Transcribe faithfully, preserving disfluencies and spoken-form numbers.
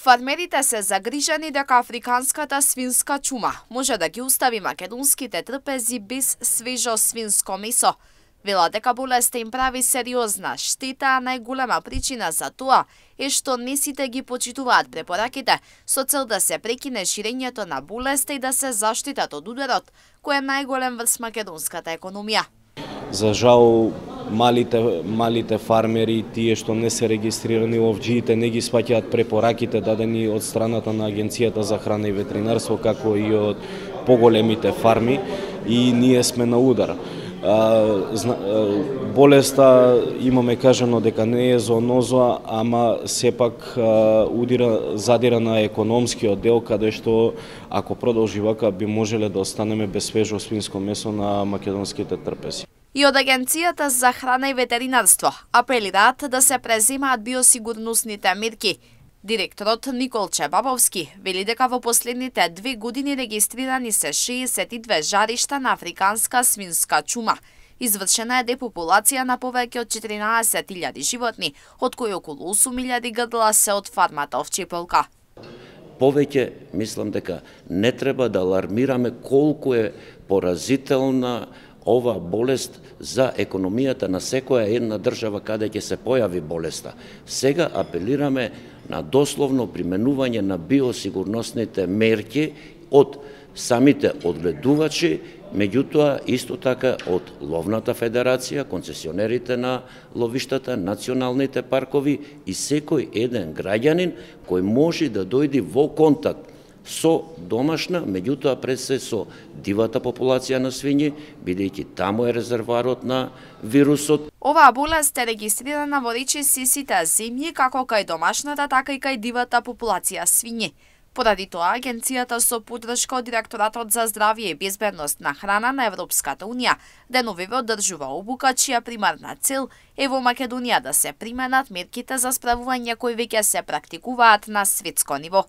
Фармерите се загрижени дека африканската свинска чума може да ги остави македонските трпези без свежо свинско месо. Велат дека болеста им прави сериозна штета, а најголема причина за тоа е што не сите ги почитуваат препораките со цел да се прекине ширењето на болеста и да се заштитат од ударот, кој е најголем врз македонската економија. За жал, малите, малите фармери, тие што не се регистрирани ловџиите, не ги сваќаат препораките дадени од страната на Агенцијата за храна и ветеринарство, како и од поголемите фарми, и ние сме на удар. Болеста имаме кажано дека не е зооноза, ама сепак удира, задира на економскиот дел, каде што ако продолжи вака би можеле да останеме без свежо свинско месо на македонските трпези. И од Агенцијата за храна и ветеринарство апелираат да се преземаат биосигурносните мерки. Директорот Николче Бабовски вели дека во последните две години регистрирани се шеесет и две жаришта на африканска свинска чума. Извршена е депопулација на повеќе од четиринаесет илјади животни, од кои околу осум илјади грдла се од фармата овчеполка. Повеќе мислам дека не треба да алармираме колку е поразителна ова болест за економијата на секоја една држава каде ќе се појави болеста. Сега апелираме на дословно применување на биосигурносните мерки од самите одгледувачи, меѓутоа исто така од Ловната федерација, концесионерите на ловиштата, националните паркови и секој еден граѓанин кој може да дојде во контакт со домашна, меѓутоа пред се со дивата популација на свињи, бидејќи таму е резерварот на вирусот. Оваа болест е регистрирана во речиси сите земји, како кај домашната, така и кај дивата популација свињи. Поради тоа, Агенцијата со поддршка од Директоратот за здравје и безбедност на храна на Европската Унија деновиве одржува обука, чија примарна цел е во Македонија да се применат мерките за справување кои веќе се практикуваат на светско ниво.